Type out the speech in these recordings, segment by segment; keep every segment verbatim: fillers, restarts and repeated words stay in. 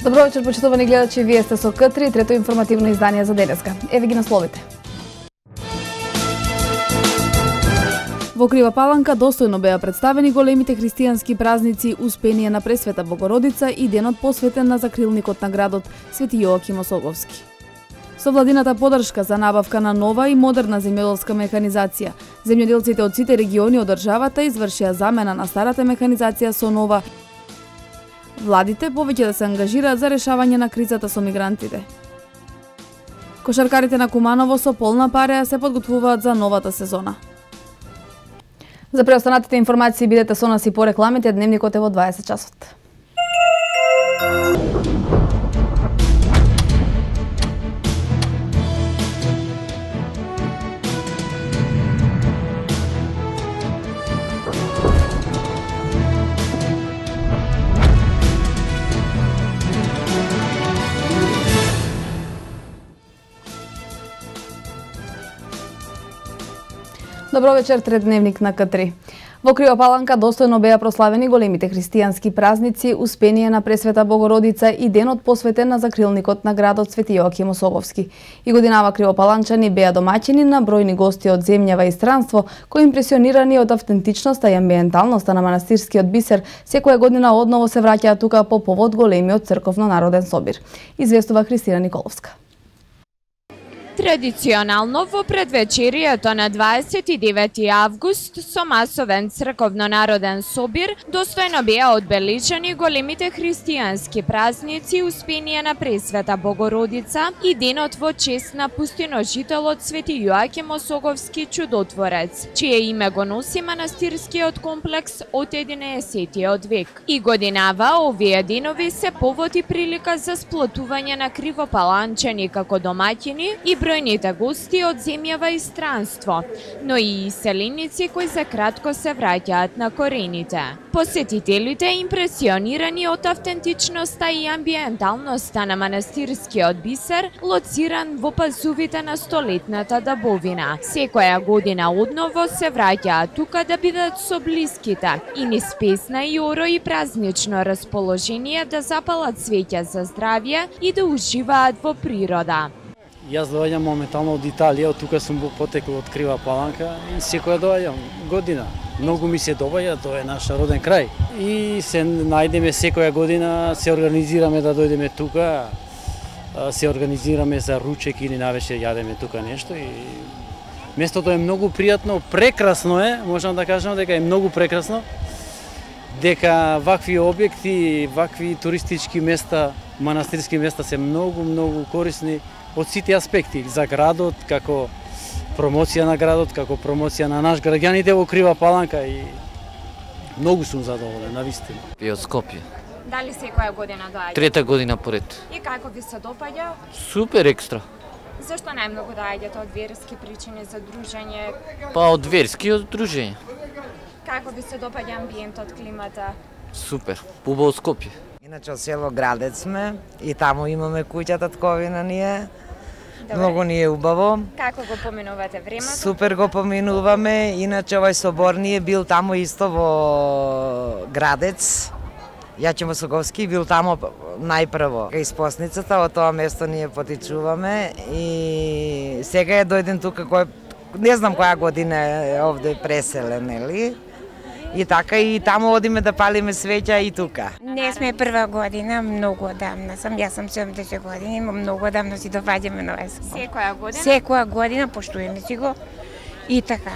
Добро вечер, почитувани гледачи, вие сте со К три, трето информативно издание за денеска. Еве ги насловите. Во Крива Паланка достојно беа представени големите христијански празници Успение на Пресвета Богородица и денот посветен на закрилникот на градот Свети Јоаким Осоговски. Со владината подршка за набавка на нова и модерна земјоделска механизација, земјоделците од сите региони од државата извршија замена на старата механизација со нова. Владите повеќе да се ангажираат за решавање на кризата со мигрантите. Кошаркарите на Куманово со полна пареа се подготвуваат за новата сезона. За преостанатите информации бидете со нас и по рекламите, дневникот е во дваесет часот. Добро вечер, трет дневник на К три. Во Крива Паланка достојно беа прославени големите христијански празници Успение на Пресвета Богородица и денот посветен на закрилникот на градот Свети Јоаким Осоговски. И годинава кривопаланчани беа домаќини на бројни гости од земјава и странство, кои импресионирани од автентичноста и амбиенталноста на манастирскиот бисер, секоја година одново се враќаат тука по повод големиот црковно-народен собир. Известува Христина Николовска. Традиционално во предвечерието на дваесет и девети август со масовен црковно-народен собир достојно беа одбележани големите христијански празници Успение на Пресвета Богородица и денот во чест на пустиножителот Свети Јоаким Осоговски чудотворец, чие име го носи манастирскиот комплекс од единаесеттиот век. И годинава овие денови се повод и прилика за сплотување на кривопаланчани како домаќини и бројните гости од земјава и странство, но и иселеници кои за кратко се враќаат на корените. Посетителите импресионирани од автентичноста и амбиенталноста на манастирскиот бисер, лоциран во пазувите на столетната дабовина. Секоја година одново се враќаат тука да бидат со блиските и низ песна и оро и празнично расположение да запалат свеќа за здравје и да уживаат во природа. Јас доаѓам моментално од Италија, од тука сум потекол од Крива Паланка и секоја доаѓам година. Многу ми се доваѓа, тоа е наш роден крај. И се најдеме секоја година, се организираме да дојдеме тука, се организираме за ручек или навечер јадеме тука нешто и местото е многу пријатно, прекрасно е, можам да кажам дека е многу прекрасно, дека вакви објекти, вакви туристички места, манастирски места се многу, многу корисни од сите аспекти за градот, како промоција на градот, како промоција на наш граѓаните во Крива Паланка и многу сум задоволен, навистина. И од Скопје. Дали секоја година доаѓа? Трета година поред. И како ви се допаѓа? Супер екстра. Зашто најмногу доаѓате од верски причини за дружење? Па од верски и од дружење. Како ви се допаѓа амбиентот, климата? Супер, убаво Скопје. Иначе од село Градец сме и таму имаме куќа татковина ние. Добре. Многу ни е убаво. Како го поминувате времето? Супер го поминуваме. Иначе овај собор ни е бил таму исто во Градец. Јоаким Осоговски бил таму најпрво. Кај Спосницата, од тоа место ние потичуваме и сега е дојден тука кој не знам која година е овде преселен, нели? И така и таму одиме да палиме свеќа и тука. Не сме прва година, многу одамна сам. Јас сум седумдесет години, многу одамна си доаѓаме на овој собор. Секоја година? Секоја година поштуеме си го и така.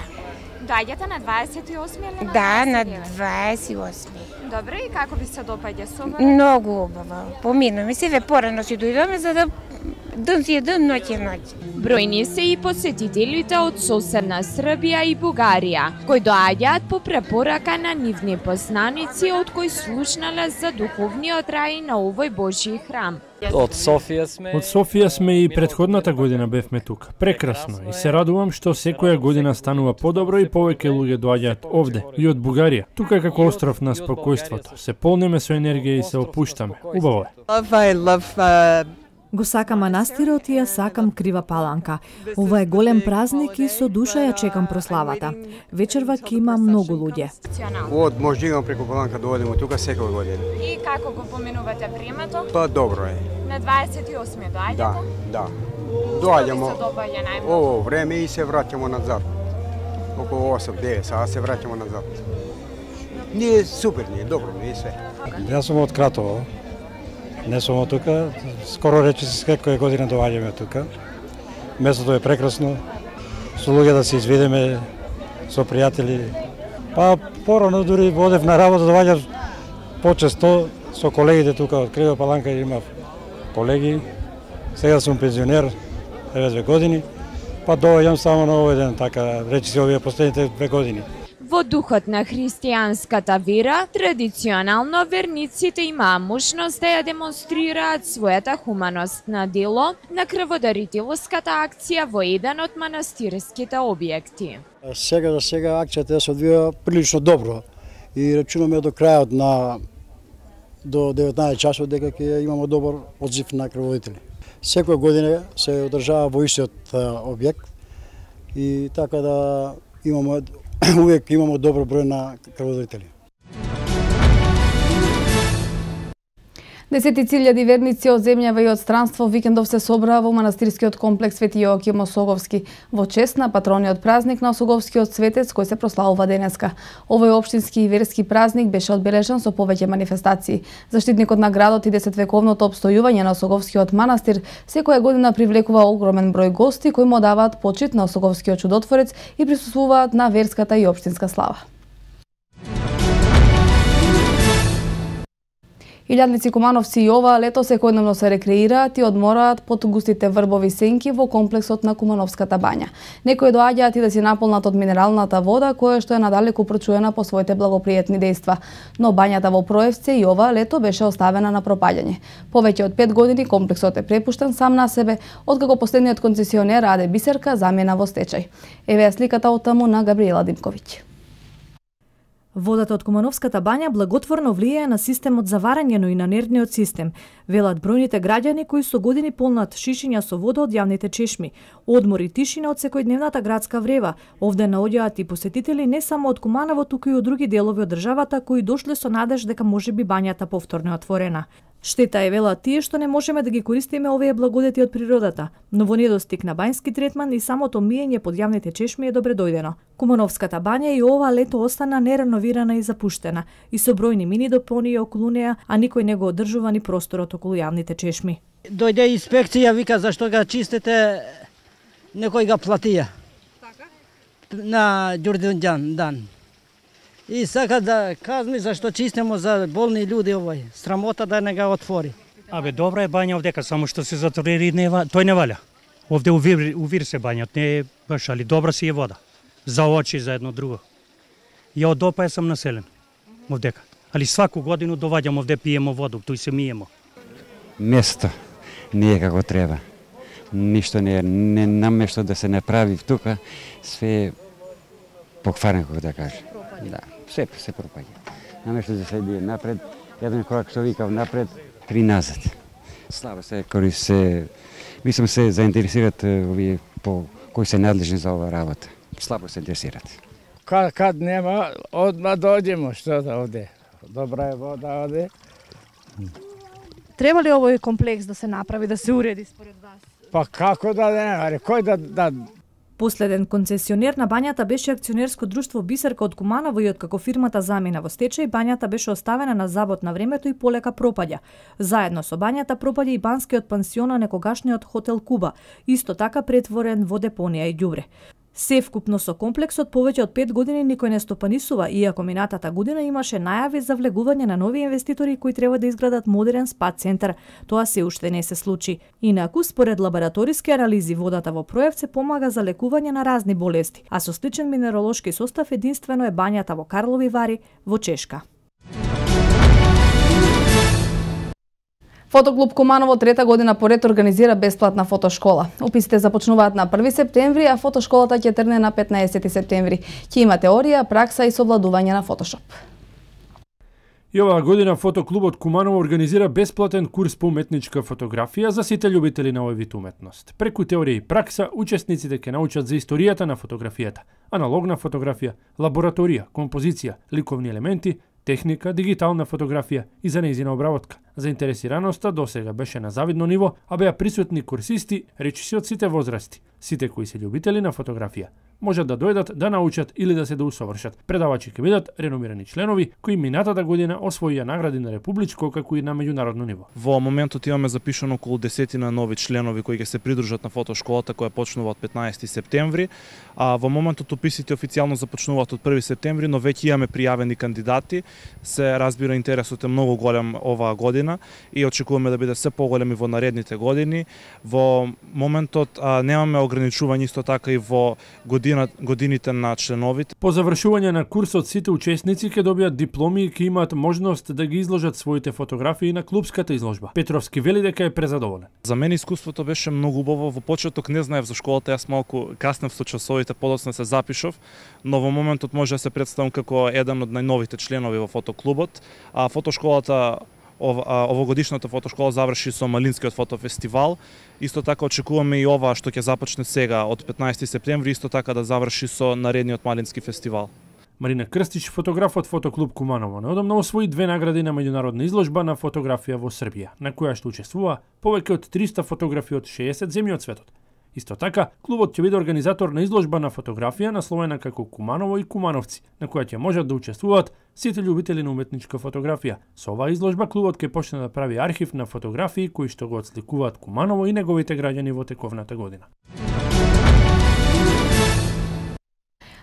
Доаѓате на дваесет и осми или на Да, на дваесет и девети? дваесет и осми. Добре, и како ви се допаѓа собор? Многу убаво. Поминуваме се, ве порано си дојдоме за да ден си е ден, ноќ е ноќ. Бројни се и посетителите од соседна Србија и Бугарија, кои доаѓаат по препорака на нивни познаници од кои слушнале за духовниот рај на овој Божји храм. Од Софија сме. Од Софија сме и претходната година бевме тука. Прекрасно и се радувам што секоја година станува подобро и повеќе луѓе доаѓаат овде и од Бугарија. Тука е како остров на спокојството. Се полниме со енергија и се опуштаме. Убаво е. Love, I love uh, Го сакам манастирот и ја сакам Крива Паланка. Ова е голем празник и со душа ја чекам прославата. Вечерва ќе има многу луѓе. Од Мождиган преку Паланка доодиме тука секоја година. И како го поминувате времето? Па добро е. На дваесет и осми доаѓате? Да, да. Доаѓамо Што ово време и се враќамо назад. Околу осем девет саат се враќамо назад. Ние супер, ние добро, ние све. Јас сум од Кратово. Не сум од тука, скоро рече се секоја година доаѓаме тука. Местото е прекрасно, со луѓе да се изведеме, со пријатели. Па порано дури одев на работа, доаѓав почесто со колегите тука од Крива Паланка, имав колеги. Сега сум пензионер, еве две години, па доаѓам само на овој ден, така рече се овие последните две години. Во духот на христијанската вера, традиционално верниците имаа можност да ја демонстрираат својата хуманост на дело на крводарителската акција во еден од манастирските објекти. Сега за сега акцијата се одвија прилично добро и рачунаме до крајот на до деветнаесет часот дека ќе имаме добар одзив на крводарители. Секоја година се одржава во истиот објект и така да имаме увек имаме добро број на крводарители. Десетици илјади верници од земјава и од странство викендов се собраа во манастирскиот комплекс Свети Јоаким Осоговски во чест на патрониот празник на Осоговскиот светец кој се прославува денеска. Овој општински и верски празник беше одбележан со повеќе манифестации. Заштитникот на градот и десетвековното опстојување на Осоговскиот манастир секоја година привлекува огромен број гости кои му даваат почит на Осоговскиот чудотворец и присуствуваат на верската и општинска слава. Илјадници кумановци и ова лето секојдневно се рекреираат и одмораат под густите врбови сенки во комплексот на Кумановската бања. Некои доаѓаат и да си наполнат од минералната вода, која што е надалеку прочуена по своите благопријатни дејства. Но бањата во Проевце и ова лето беше оставена на пропаѓање. Повеќе од пет години комплексот е препуштен сам на себе, откако последниот концесионер Аде Бисерка замена во стечај. Еве ја сликата од таму на Габриела Димковиќ. Водата од Кумановската бања благотворно влијае на системот за варење, но и на нервниот систем, велат бројните граѓани кои со години полнат шишиња со вода од јавните чешми. Одмор и тишина од секојдневната градска врева. Овде наоѓаат и посетители не само од Куманово, туку и од други делови од државата кои дошле со надеж дека можеби бањата повторно е отворена. Штета е, велат тие, што не можеме да ги користиме овие благодети од природата, но во недостиг на бањски третман и самото миење под јавните чешми е добре дојдено. Кумановската бања и ова лето остана нереновирана и запуштена, и со бројни мини допонии околу неа, а никој не го одржува ни просторот околу јавните чешми. Дојде инспекција, вика зашто ga чистите, некој ga платија. Така? На Ѓурѓан дан. И сака да казни зашто чистимо за болни луѓе овој. Срамота да не ga отвори. Абе, добра е бања овдека, само што се затвори, не, тој не валя. Овде увир, увир се бањат, не е баш, али добра си е вода. За очи, за едно друго. Ја од Опаја сам населен овдека. Али сваку годину доваѓам овде, пиемо воду, тој се миемо. Место не е како треба. Ништо не е, не намешто да се направи тука, све е покварено, како да кажа. Да, се се пропаѓа. Наместо да се иде напред, еден корак што викав напред, три назад. Слабо се кои се, мислам се заинтересират овие по кои се надлежни за ова работа. Слабо се интересират. Кад, кад нема, одма доđemo, што да овде. Добра е вода овде. Треба ли овој комплекс да се направи, да се уреди според вас? Па како да не, аре, кој да, да... Последен концесионер на бањата беше акционерско друштво Бисерка од Куманово и откако фирмата замина во стечај, бањата беше оставена на забот на времето и полека пропаѓа. Заедно со бањата пропаѓа и банскиот пансион на некогашниот хотел Куба, исто така претворен во депонија и ѓубре. Севкупно со комплексот повеќе од пет години никој не стопанисува, иако минатата година имаше најави за влегување на нови инвеститори кои треба да изградат модерен спа центар. Тоа се уште не се случи. Инаку, според лабораториски анализи, водата во Проевце помага за лекување на разни болести, а со сличен минеролошки состав единствено е бањата во Карлови Вари во Чешка. Фотоклуб Куманово трета година поред организира бесплатна фотошкола. Уписите започнуваат на први септември, а фотошколата ќе тргне на петнаесети септември. Ќе има теорија, пракса и совладување на фотошоп. И оваа година фотоклубот Куманово организира бесплатен курс по уметничка фотографија за сите љубители на овој вид уметност. Преку теорија и пракса, учесниците ќе научат за историјата на фотографијата, аналогна фотографија, лабораторија, композиција, ликовни елементи, техника, дигитална фотографија и за нејзина обработка. Заинтересираноста досега беше на завидно ниво, а беа присутни курсисти, речиси од сите возрасти. Сите кои се љубители на фотографија можат да дојдат да научат или да се да усовршат. Предавачи ќе бидат реномирани членови кои минатата година освоија награди на републичко како и на меѓународно ниво. Во моментот имаме запишано околу десетина нови членови кои ќе се придружат на фотошколата која почнува од петнаесети септември, а во моментот уписите официјално започнуваат од први септември, но веќе имаме пријавени кандидати. Се разбира интересот е многу голем оваа година и очекуваме да биде се поголем и во наредните години. Во моментот а, немаме ограничување исто така и во година, годините на членовите. По завршување на курсот сите учесници ќе добијат дипломи и ќе имаат можност да ги изложат своите фотографии на клубската изложба. Петровски вели дека е презадоволен. За мене искуството беше многу убаво. Во почеток не знаев за школата, јас малку каснев со часовите, подоцна се запишов, но во моментот може да се представам како еден од најновите членови во фотоклубот. А фотошколата овогодишната фотошкола заврши со Малинскиот фотофестивал. Исто така очекуваме и ова што ќе започне сега од петнаесети септември, исто така да заврши со наредниот Малински фестивал. Марина Крстич, фотограф од фотоклуб Куманово, неодамна освои две награди на меѓународна изложба на фотографија во Србија, на која што учествува повеќе од триста фотографи од шеесет земји од светот. Исто така, клубот ќе биде организатор на изложба на фотографија насловена како Куманово и Кумановци, на која ќе можат да учествуваат сите љубители на уметничка фотографија. Со оваа изложба клубот ќе почне да прави архив на фотографии кои што го отсликуваат Куманово и неговите граѓани во тековната година.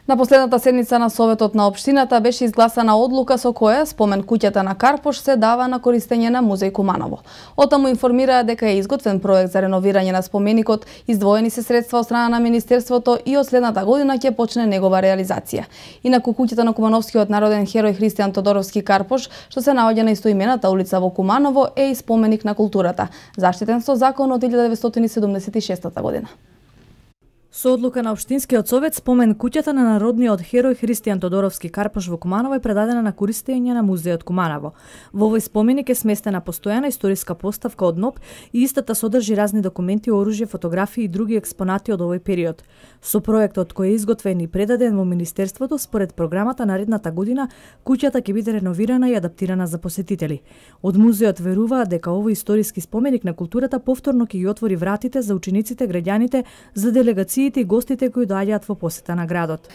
На последната седница на Советот на општината беше изгласана одлука со која спомен куќата на Карпош се дава на користење на музеј Куманово. Отаму информираа дека е изготвен проект за реновирање на споменикот, издвоени се средства од страна на Министерството и од следната година ќе почне негова реализација. Инаку куќата на кумановскиот народен херој Христијан Тодоровски Карпош, што се наоѓа на истоимената улица во Куманово, е и споменик на културата, заштитен со закон од илјада деветстотини седумдесет и шеста година. Со одлука на Општинскиот совет, спомен куќата на народниот херој Христијан Тодоровски Карпош во Куманово е предадена на користење на музејот Куманово. Во овој споменик е сместена постојана историска поставка од НОП и истата содржи разни документи, оружје, фотографии и други експонати од овој период. Со проектот кој е изготвен и предаден во Министерството, според програмата наредната година, куќата ќе биде реновирана и адаптирана за посетители. Од музеот веруваат дека овој историски споменик на културата повторно ќе ги отвори вратите за учениците, граѓаните, за делегации и гостите кои доаѓаат во посета на градот.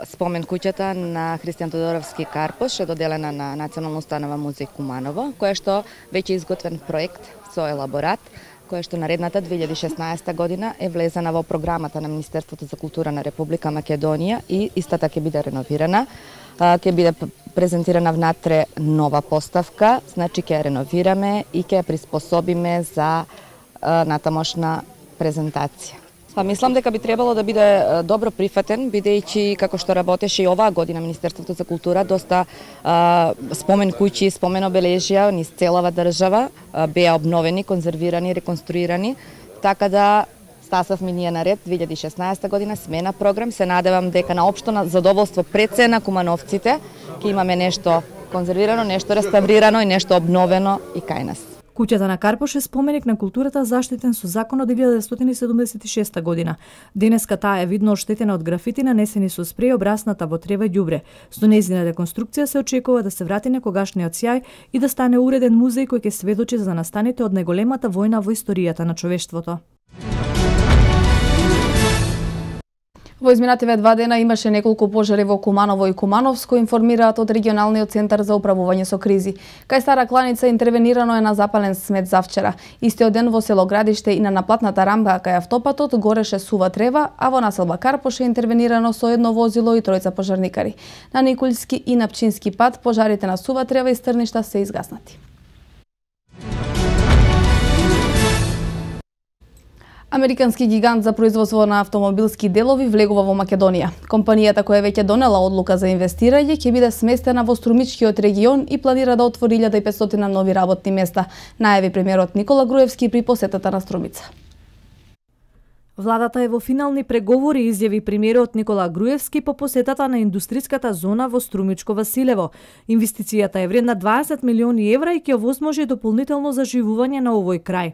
Спомен куќата на Христијан Тодоровски Карпош е доделена на Национална установа музеј Куманово, која што веќе изготвен проект со елаборат, која што наредната две илјади и шеснаесета година е влезена во програмата на Министерството за култура на Република Македонија и истата ќе биде реновирана. Ќе биде презентирана внатре нова поставка, значи ќе ја реновираме и ќе ја приспособиме за натамошна презентација. Па мислам дека би требало да биде добро прифатен, бидејќи како што работеше и оваа година Министерството за култура, доста а, спомен куќи, спомен обележја низ целава држава а, беа обновени, конзервирани, реконструирани, така да стасавме ние наред две илјади и шеснаесета година смена програм. Се надевам дека на општо задоволство пред се на кумановците ќе имаме нешто конзервирано, нешто реставрирано и нешто обновено и кај нас. Куќата на Карпош е споменик на културата заштитен со закон од илјада деветстотини седумдесет и шеста година. Денеска таа е видно оштетена од графити нанесени со спреј обрасната во трева и ѓубре. Со нејзина реконструкција се очекува да се врати некогашниот сјај и да стане уреден музеј кој ќе сведочи за настаните од најголемата војна во историјата на човештвото. Во изминативе два дена имаше неколку пожари во Куманово и Кумановско, информираат од регионалниот центар за управување со кризи. Кај Стара Кланица интервенирано е на запален смет завчера. Истиот ден во село Градиште и на наплатната рамка кај автопатот гореше сува трева, а во населба Карпош е интервенирано со едно возило и тројца пожарникари. На Николски и на Пчински пат пожарите на сува трева и стрништа се изгаснати. Американски гигант за производство на автомобилски делови влегува во Македонија. Компанијата која веќе донела одлука за инвестирање ќе биде сместена во Струмичкиот регион и планира да отвори илјада и петстотина нови работни места, најави премиерот Никола Груевски при посетата на Струмица. Владата е во финални преговори, изјави премиерот Никола Груевски по посетата на индустриската зона во Струмичко Василево. Инвестицијата е вредна дваесет милиони евра и ќе овозможи дополнително заживување на овој крај.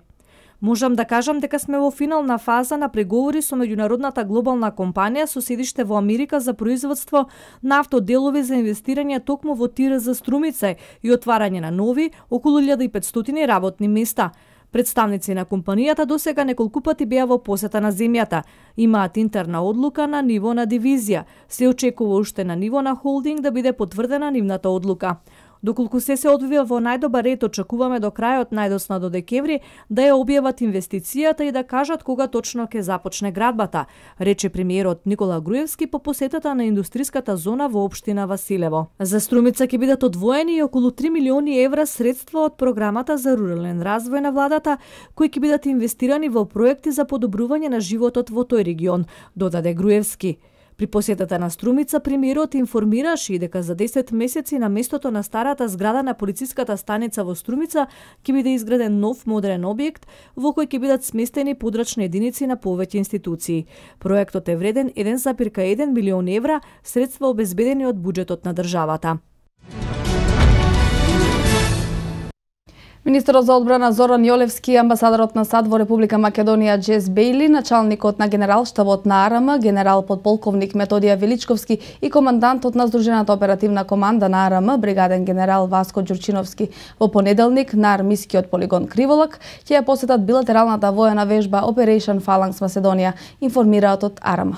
Можам да кажам дека сме во финална фаза на преговори со меѓународната глобална компанија со седиште во Америка за производство на автоделови за инвестирање токму во тир за Струмица и отварање на нови околу илјада и петстотини работни места. Представници на компанијата досега неколку пати беа во посета на земјата. Имаат интерна одлука на ниво на дивизија. Се очекува уште на ниво на холдинг да биде потврдена нивната одлука. Доколку се се одвива во најдобар ред, очекуваме до крајот најдосно до декември да ја објават инвестицијата и да кажат кога точно ќе започне градбата, рече премиерот Никола Груевски по посетата на индустриската зона во општина Василево. За Струмица ќе бидат одвоени и околу три милиони евра средства од програмата за рурален развој на владата, кои ќе бидат инвестирани во проекти за подобрување на животот во тој регион, додаде Груевски. При посетата на Струмица премиерот информираше и дека за десет месеци на местото на старата зграда на полициската станица во Струмица ќе биде изграден нов модерен објект во кој ќе бидат сместени подрачни единици на повеќе институции. Проектот е вреден еден зарез еден милион евра, средства обезбедени од буџетот на државата. Министерот за одбрана Зоран Јолевски, амбасадорот на САД во Република Македонија Джес Бејли, началникот на генералштабот на АРМ, генерал подполковник Методија Величковски и командантот на Здружената оперативна команда на АРМ, бригаден генерал Васко Ѓурчиновски, во понеделник на армискиот полигон Криволак ќе ја посетат билатералната воена вежба Operation Phalanx Macedоnia, информираат од АРМ.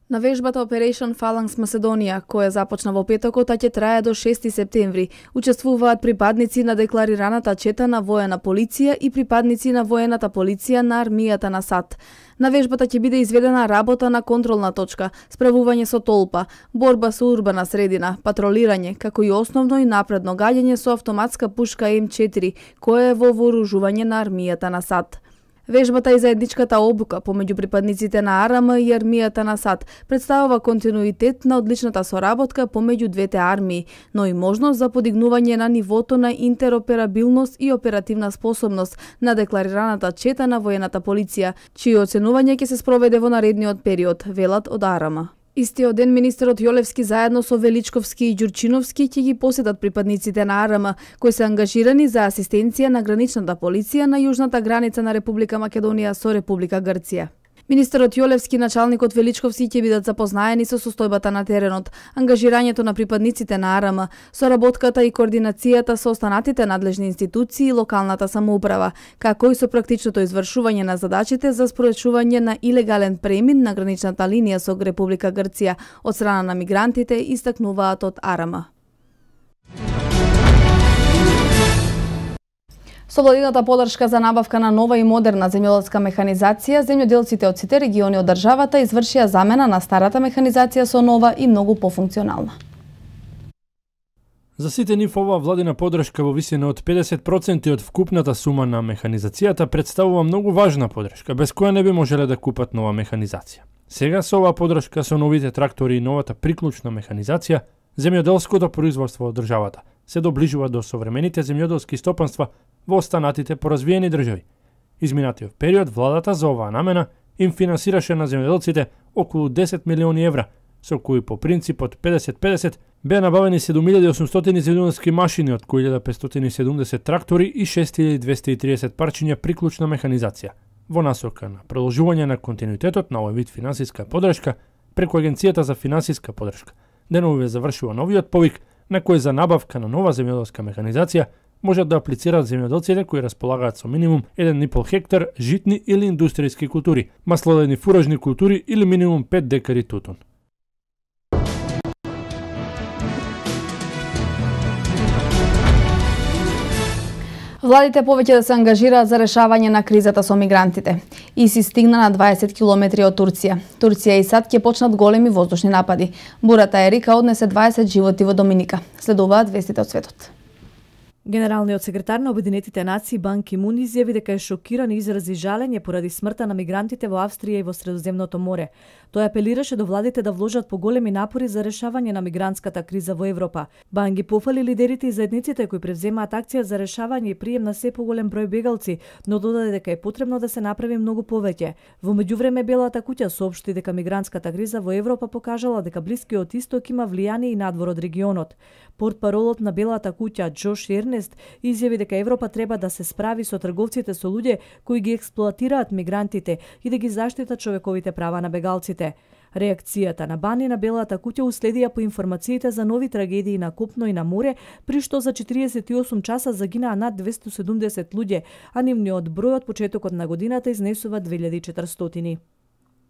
На вежбата Operation Phalanx Macedоnia, која започна во петокот, а ќе трае до шести септември, учествуваат припадници на декларираната чета на воена полиција и припадници на воената полиција на армијата на САД. На вежбата ќе биде изведена работа на контролна точка, справување со толпа, борба со урбана средина, патролирање, како и основно и напредно гаѓање со автоматска пушка М четири, која е во вооружување на армијата на САД. Вежбата и заедничката обука помеѓу припадниците на АРМ и армијата на САД представува континуитет на одличната соработка помеѓу двете армии, но и можност за подигнување на нивото на интероперабилност и оперативна способност на декларираната чета на воената полиција, чие оценување ќе се спроведе во наредниот период, велат од АРМ. Истиот ден министерот Јолевски заедно со Величковски и Ѓурчиновски ќе ги посетат припадниците на АРМ, кои се ангажирани за асистенција на граничната полиција на јужната граница на Република Македонија со Република Грција. Министерот Јолевски и началникот Величковски ќе бидат запознаени со состојбата на теренот, ангажирањето на припадниците на АРМ, соработката и координацијата со останатите надлежни институции и локалната самоуправа, како и со практичното извршување на задачите за спровечување на илегален премин на граничната линија со Република Грција од страна на мигрантите, истакнуваат од АРМ. Со владината подршка за набавка на нова и модерна земјоделска механизација, земјоделците од сите региони од државата извршија замена на старата механизација со нова и многу пофункционална. За сите нив оваа владина подршка во висина од педесет проценти од вкупната сума на механизацијата представува многу важна подршка, без која не би можеле да купат нова механизација. Сега со оваа подршка со новите трактори и новата приклучна механизација, земјоделското производство од државата се доближува до современите земјоделски стопанства во останатите поразвиени држави. Изминатиот период владата за оваа намена им финансираше на земјоделците околу десет милиони евра, со кои по принципот педесет педесет беа набавени седум илјади и осумстотини земјоделски машини, од кои илјада петстотини и седумдесет трактори и шест илјади двесте и триесет парчиња приклучна механизација, во насока на продолжување на континуитетот на овој вид финансиска подршка преку Агенцијата за финансиска подршка. Деновиве завршува новиот повик на кој за набавка на нова земјоделска механизација можат да аплицираат земјоделците кои располагаат со минимум еден и пол хектар житни или индустријски култури, маслодени фуражни култури или минимум пет декари тутун. Владите повеќе да се ангажираат за решавање на кризата со мигрантите. ИСИС стигна на дваесет километри од Турција. Турција и САД ќе почнат големи воздушни напади. Бурата Ерика однесе дваесет животи во Доминика. Следуваат вестите од светот. Генералниот секретар на Обединетите нации Бан Ки Мун изјави дека е шокиран и изрази жалење поради смртта на мигрантите во Австрија и во Средоземното море. Тој апелираше до владите да вложат поголеми напори за решавање на мигрантската криза во Европа. Бан ги пофали лидерите и заедниците кои превземаат акција за решавање и прием на се поголем број бегалци, но додаде дека е потребно да се направи многу повеќе. Во меѓувреме Белата куќа соопшти дека мигрантската криза во Европа покажала дека Блискиот Исток има влијание и надвор од регионот. Портпаролот на Белата куќа Џош Ернест изјави дека Европа треба да се справи со трговците со луѓе кои ги експлоатираат мигрантите и да ги заштитат човековите права на бегалците. Реакцијата на Бан и на Белата куќа уследија по информациите за нови трагедии на копно и на море, при што за четириесет и осум часа загинаа над двесте и седумдесет луѓе, а нивниот број од почетокот на годината изнесува две илјади и четиристотини.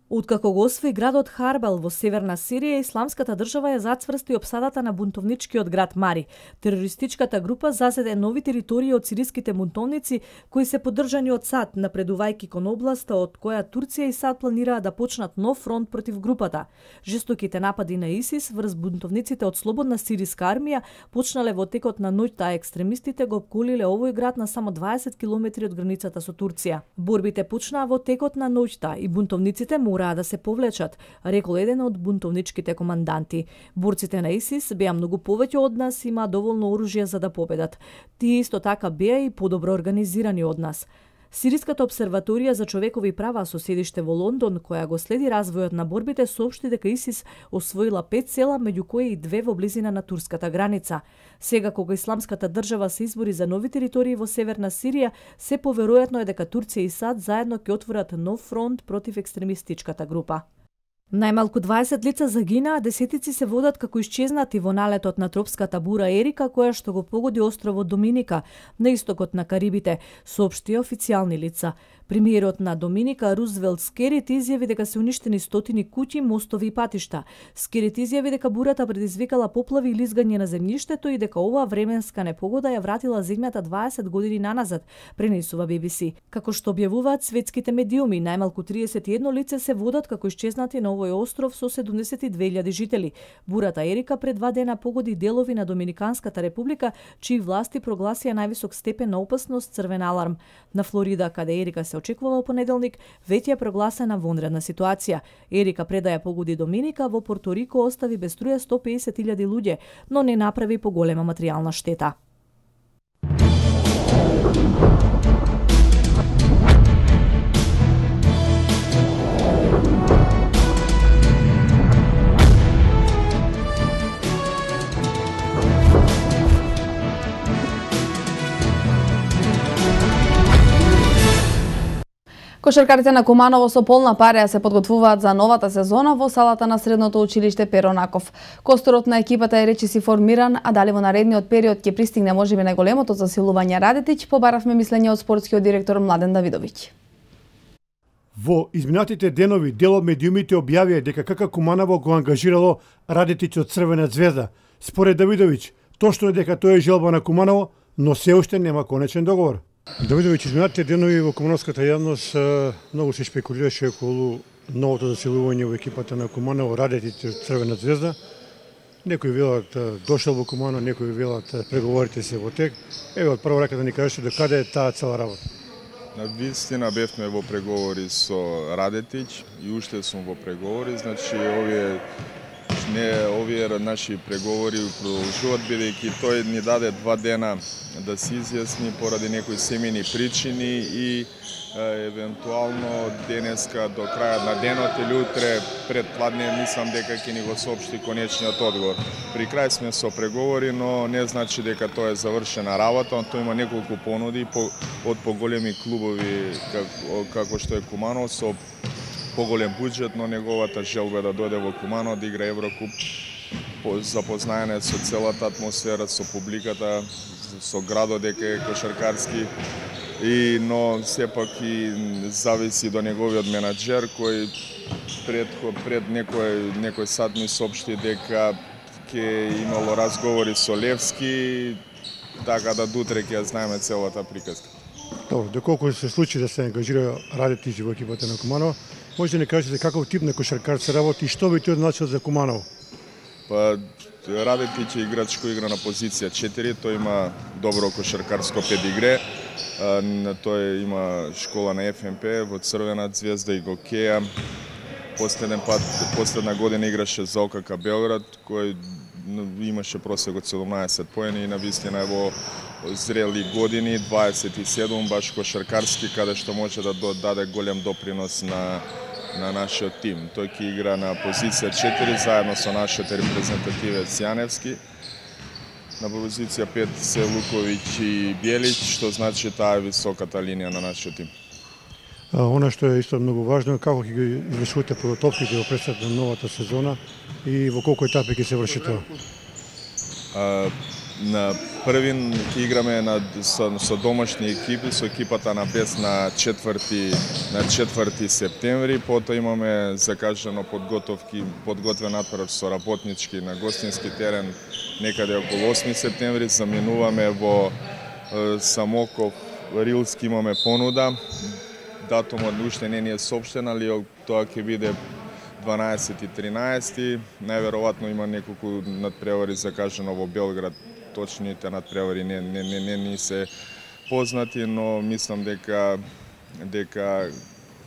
Откако го освои градот Харбел во северна Сирија, Исламската држава ја зацврсти опсадата на бунтовничкиот град Мари. Терористичката група зазеде нови територии од сириските бунтовници кои се поддржани од САД, напредувајќи кон областа од која Турција и САД планираа да почнат нов фронт против групата. Жестоките напади на ИСИС врз бунтовниците од Слободна сириска армија почнале во текот на ноќта, а екстремистите го обколиле овој град на само дваесет километри од границата со Турција. Борбите почнаа во текот на ноќта и бунтовниците мораа да се повлечат, рекол еден од бунтовничките команданти. Борците на ИСИС беа многу повеќе од нас и има доволно оружје за да победат. Тие исто така беа и подобро организирани од нас. Сириската обсерваторија за човекови права со седиште во Лондон, која го следи развојот на борбите, соопшти дека ИСИС освоила пет села, меѓу кои и две во близина на турската граница. Сега, кога Исламската држава се избори за нови територии во северна Сирија, се поверојатно е дека Турција и САД заедно ќе отворат нов фронт против екстремистичката група. Најмалку дваесет лица загинаа, десетици се водат како исчезнати во налетот на тропската бура Ерика, која што го погоди островот Доминика, на истокот на Карибите, соопшти официјални лица. Премиерот на Доминика, Рузвелт Скерит, изјави дека се уништени стотини куќи, мостови и патишта. Скерит изјави дека бурата предизвикала поплави и лизгање на земјиштето и дека оваа временска непогода ја вратила земјата дваесет години наназад, пренесува Би Би Си. Како што објавуваат светските медиуми, најмалку триесет и едно лице се водат како исчезнати на овој остров со седумдесет и две илјади жители. Бурата Ерика пред два дена погоди делови на Доминиканската република, чии власти прогласија највисок степен на опасност црвен аларм. На Флорида, каде Ерика се очекува во понеделник, веќе е прогласена вонредна ситуација. Ерика пред да ја погоди Доминика, во Порто Рико остави без струја сто и песет илјади луѓе, но не направи поголема материјална штета. Кошаркарите на Куманово со полна пареја се подготвуваат за новата сезона во салата на средното училиште Перо Наков. Косторот на екипата е речиси формиран, а дали во наредниот период ќе пристигне можеби најголемото засилување Радетиќ, побаравме мислење од спортскиот директор Младен Давидовиќ. Во изминатите денови дел од медиумите објавија дека КК Куманово го ангажирало Радетиќ од Црвена звезда. Според Давидовиќ, точно е дека тоа е желба на Куманово, но се уште нема конечен договор. Давидовиќ, изминатите денови во кумановската јавност многу се шпекулираше околу новото засилување во екипата на Куманово, Радетиќ од Црвена звезда. Некои велат дошол во Куманово, некои велат преговорите се во тек. Еве од прва рака да ни кажете до каде е таа цела работа. На вистина бевме во преговори со Радетиќ и уште сум во преговори, значи овие не овие наши преговори продолжуваат бидејќи тој ни даде два дена да се изјасни поради некои семејни причини и е, евентуално денеска до крајот на денот или утре пред пладне мислам дека ќе ни го соопшти конечниот одговор. При крај сме со преговори, но не значи дека тоа е завршена работа, но тоа има неколку понуди по, од поголеми клубови како, како што е Куманово со поголем буџет, но неговата желба е да дојде во Куманово да игра Еврокуп, запознаење со целата атмосфера, со публиката, со градот дека е кошаркарски, и, но сепак и зависи до неговиот менаџер кој пред, пред некој, некој сат ми соопшти дека ќе имало разговори со Левски, така да дутре ќе знаеме целата приказка. Добро, доколку се случи да се ангажира Радетиќ во екипата на Куманово, може да не кажете каков тип на кошаркар се работи и што би тој значил за Куманово? Па, Радетич е играч кој игра на позиција четири, тој има добро кошаркарско педигре. Тој има школа на Еф Ем Пе во Црвена звезда и го Кеја. Последен пат, последна година играше за О Ка Ка Белград, кој имаше просек од седумнаесет поени и на вистина е во зрели години, дваесет и седум, баш кошаркарски, каде што може да даде голем допринос на на нашиот тим. Тој ќе игра на позиција четири заедно со нашиот репрезентативец Јаневски. На позиција пет се Луковиќ и Бјелич, што значи таа е високата линија на нашиот тим. А, она што е исто многу важно е како ќе ги извршувате подготовките во пресет на новата сезона и во колку етапи ќе се врши тоа? А, на првин ќе играме на, со, со домашни екипи, со екипата на Бес на четврти на четврти септември, потоа имаме закажано подготовки, подготвен натпрев со работнички на гостински терен некаде околу осми септември, заминуваме во е, Самоков, Рилски имаме понуда. Датумот уште не ни е соопштен, али тоа ќе биде дванаесети и тринаесети. Најверојатно има неколку надпревари закажано во Белград. Точните надпревари не не не не ни се познати, но мислам дека дека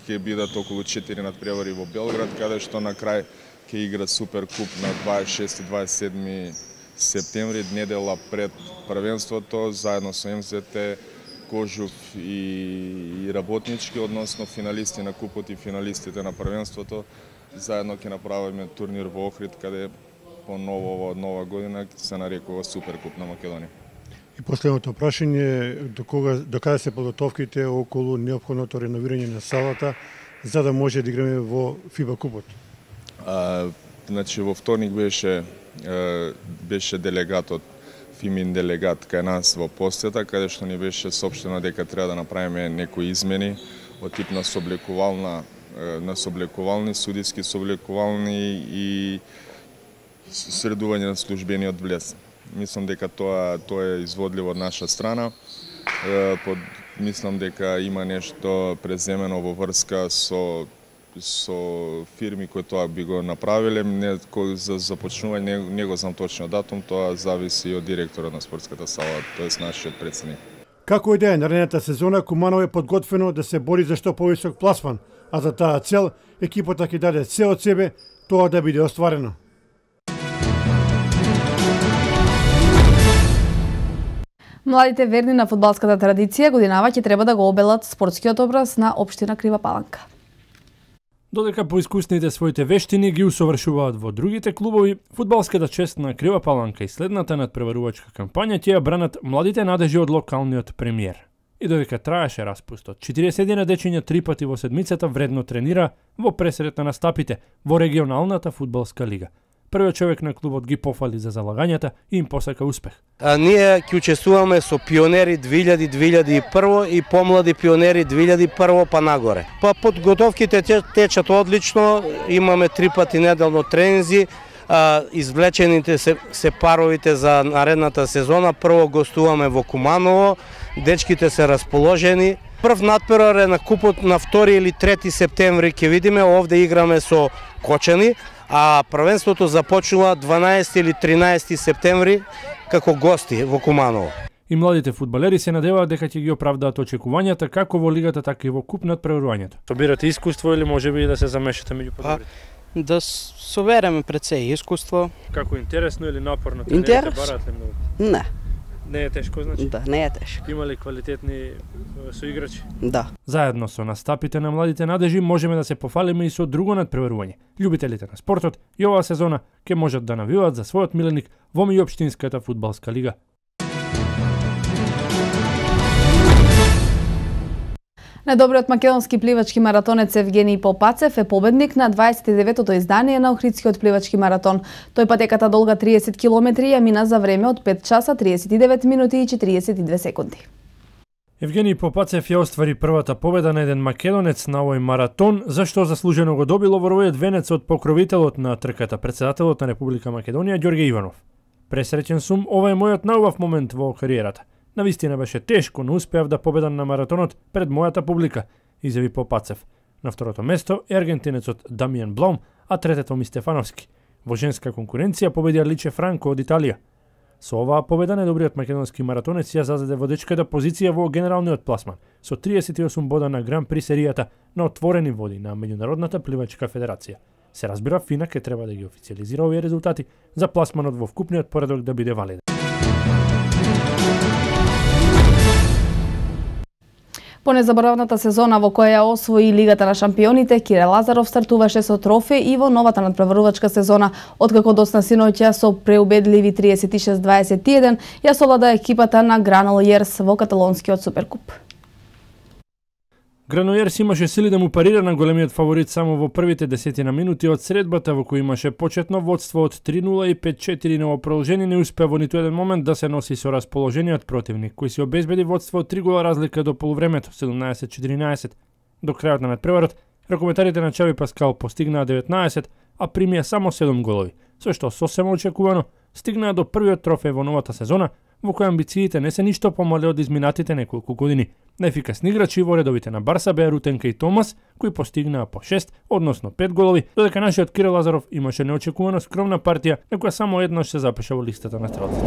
ќе бидат околу четири надпревари во Белград, каде што на крај ќе игра Суперкуп на дваесет и шести и дваесет и седми септември, недела пред првенството, заедно со Ем Зет Те, Кожув и, и Работнички, односно финалисти на купот и финалистите на првенството. Заедно ќе направиме турнир во Охрид, каде по ново нова година се нарекува Суперкуп на Македонија. И последното прашање, до кога до каде се подготовките околу неопходното реновирање на салата за да може да играме во ФИБА купот? А, значи во вторник беше беше делегатот Фимин делегат кај нас во посета, каде што ни беше соопштено дека треба да направиме некои измени од тип на соблекувална на соблекувални, судиски соблекувални и средување на службениот влез. Мислам дека тоа тоа е изводливо од наша страна. Под, мислам дека има нешто преземено во врска со со фирми кои тоа би го направиле. Не, за започнување не, не го знам точно датум, тоа зависи од директорот на спортската сала, тоест нашиот претседник. Како и да е, наредната сезона Куманово е подготвено да се бори за што повисок пласман, а за таа цел екипата ќе даде се од себе тоа да биде остварено. Младите верни на фудбалската традиција годинава ќе треба да го обелат спортскиот образ на општина Крива Паланка. Додека поискусните своите вештини ги усовршуваат во другите клубови, фудбалската чест на Крива Паланка и следната надпреварувачка кампања ќе ја бранат младите надежи од локалниот премиер. И додека траеше распустот, четириесет дечиња три пати во седмицата вредно тренира во пресрет на настапите во регионалната фудбалска лига. Првиот човек на клубот ги пофали за залагањата и им посака успех. А, ние ќе учествуваме со пионери две илјади до две илјади и прва и помлади пионери две илјади и прва па нагоре. Па подготовките течат одлично, имаме три пати неделно тренинзи, а, извлечените се, се паровите за наредната сезона. Прво гостуваме во Куманово, дечките се расположени. Прв надпревар е на купот на втори или трети септември, ќе видиме, овде играме со Кочани, а првенството започнува дванаесети или тринаесети септември како гости во Куманово. И младите фудбалери се надеваат дека ќе ги оправдаат очекувањата како во лигата, така и во куп надпреварувањето. Собирате искуство или можеби да се замешате меѓу подобрите? Па, да собереме пред се искуство. Како интересно или напорно? Интерес? Не. Не е тешко, значи? Да, не е тешко. Има ли квалитетни соиграчи? Да. Заедно со настапите на младите надежи можеме да се пофалиме и со друго надпреварување. Љубителите на спортот и оваа сезона ќе можат да навиваат за својот миленик во меѓуопштинската фудбалска лига. Најдобриот македонски пливачки маратонец Евгений Попацев е победник на дваесет и деветото издание на Охридскиот пливачки маратон. Тој патеката долга триесет километри ја мина за време од пет часа триесет и девет минути и четириесет и две секунди. Евгений Попацев ја оствари првата победа на еден македонец на овој маратон, зашто заслужено го доби лавровиот венец од покровителот на трката, претседателот на Република Македонија Ѓорѓе Иванов. Пресреќен сум, ова е мојот најубав момент во кариерата. Навистина беше тешко, но успеав да победам на маратонот пред мојата публика, изјави Попацев. На второто место е аргентинецот Дамијан Блом, а третото ми Стефановски. Во женска конкуренција победија Личе Франко од Италија. Со оваа победа недобриот македонски маратонец ја зазаде водечката позиција во генералниот пласман со триесет и осум бода на Гран При серијата на отворени води на Меѓународната пливачка федерација. Се разбира, ФИНА ке треба да ги официализира овие резултати за пласманот во вкупниот поредок да биде валиден. По незаборавната сезона во која ја освои Лигата на шампионите, Кире Лазаров стартуваше со трофеј и во новата надпреварувачка сезона, откако досна синоќа со преубедливи триесет и шест дваесет и еден ја совлада екипата на Гранолиерс во каталонскиот суперкуп. Гранолиерс имаше сили да му парира на големиот фаворит само во првите десетина минути од средбата, во кој имаше почетно водство од три нула и пет четири, но во продолжение не успеа во ниту еден момент да се носи со расположениот противник, кој си обезбеди водство од три гола разлика до полувремето, седумнаесет четиринаесет. До крајот на надпреварот, ракометарите на Чави Паскал постигнаа деветнаесет, а примија само седум голови, со што сосема очекувано стигнаа до првиот трофеј во новата сезона, во која амбициите не се ништо помале од изминатите неколку години. Најефикасни играчи во редовите на Барса беа Рутенка и Томас, кои постигнаа по шест, односно пет голови, додека нашиот Кире Лазаров имаше неочекувано скромна партија, на која само еднаш се запиша во листата на стрелците.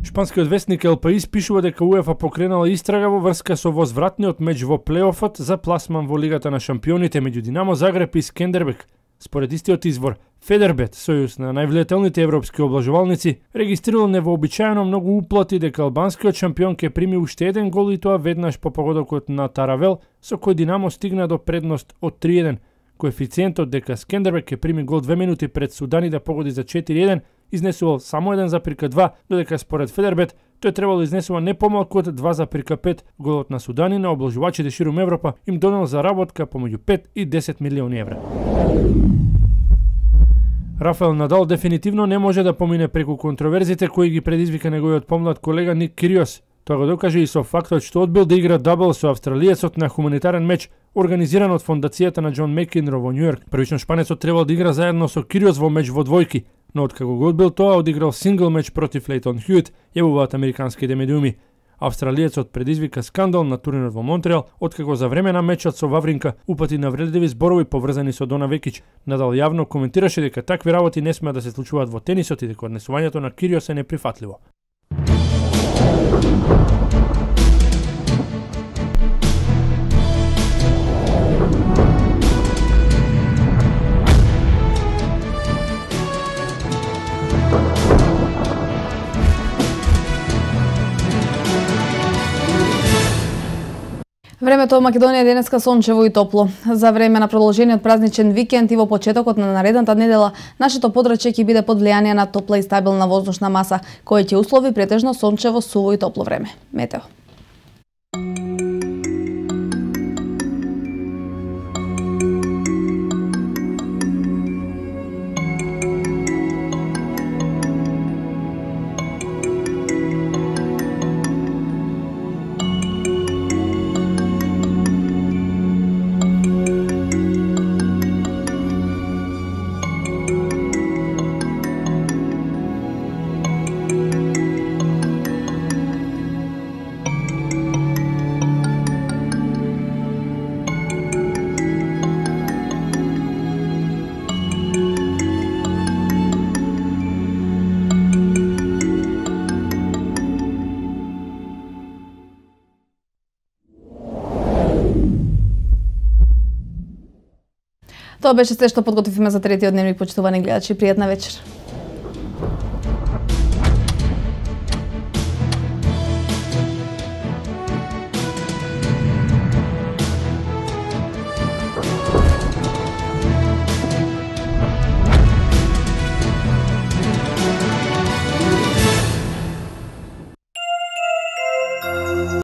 Шпанскиот вестник Ел Паис пишува дека УЕФА покренала истрага во врска со возвратниот меч во плейофот за пласман во Лигата на шампионите меѓу Динамо Загреб и Скендербек. Според истиот извор, Федербет, сојуз на највлијателните европски облажувалници, регистрирал невообичаено многу уплати дека албанскиот шампион ке прими уште еден гол и тоа веднаш по погодокот на Таравел, со кој Динамо стигна до предност од три еден. Коефициентот дека Скендербек ке прими гол две минути пред Судани да погоди за четири еден изнесувал само еден запирка два, додека според Федербет тој требало да изнесува не помалку од два запирка пет. Голот на Судани на облажувачите ширум Европа им донел заработка помеѓу пет и десет милиони евра. Рафаел Надал дефинитивно не може да помине преку контроверзите кои ги предизвика неговиот помлад колега Ник Кириос. Тоа го докаже и со фактот што одбил да игра дабл со австралиецот на хуманитарен меч организиран од фондацијата на Џон Мекенро во Њујорк. Првично шпанецот требал да игра заедно со Кириос во меч во двојки, но откако го одбил тоа, одиграл сингл меч против Лейтон Хјуит, јавуваат американските медиуми. Австралиецот предизвика скандал на турнирот во Монтреал, откако за време на мечот со Вавринка упати навредливи зборови поврзани со Дона Векич. Надал јавно коментираше дека такви работи не смеа да се случуваат во тенисот и дека однесувањето на Кириос е неприфатливо. Времето во Македонија е денеска сончево и топло. За време на продолжениот празничен викенд и во почетокот на наредната недела, нашето подрачје ќе биде под влијание на топла и стабилна воздушна маса, која ќе услови претежно сончево, суво и топло време. Метео. Тоа беше се што подготвивме за третиот дневник, почитувани гледачи. Пријатна вечер.